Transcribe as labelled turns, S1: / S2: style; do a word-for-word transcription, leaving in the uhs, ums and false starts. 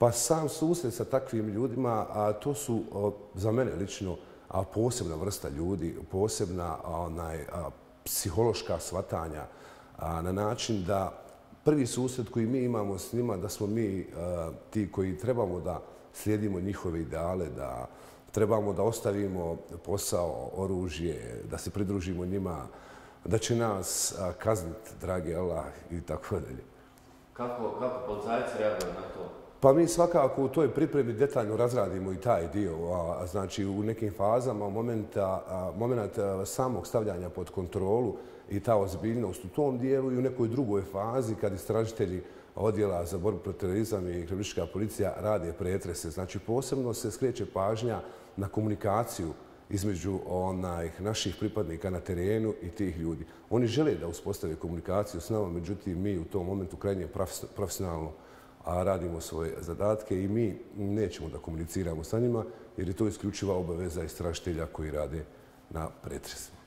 S1: Pa sam susret sa takvim ljudima, a to su za mene lično a posebna vrsta ljudi, posebna onaj, a, psihološka shvatanja a, na način da prvi susret koji mi imamo s njima, da smo mi a, ti koji trebamo da slijedimo njihove ideale, da trebamo da ostavimo posao, oružje, da se pridružimo njima, da će nas a, kazniti, dragi Allah i tako dalje.
S2: Kako, kako policajci reaguju na to?
S1: Pa mi svakako u toj pripremi detaljno razradimo i taj dio. A, znači u nekim fazama, momenta, a, moment samog stavljanja pod kontrolu i ta ozbiljnost u tom dijelu i u nekoj drugoj fazi kad istražitelji odjela za borbu protiv terorizma i kriminalistička policija rade pretrese. Znači posebno se skreće pažnja na komunikaciju između onaj, naših pripadnika na terenu i tih ljudi. Oni žele da uspostave komunikaciju s nama, međutim mi u tom momentu krajnje profesionalno a radimo svoje zadatke i mi nećemo da komuniciramo sa njima jer je to isključiva obaveza istražitelja koji rade na pretresima.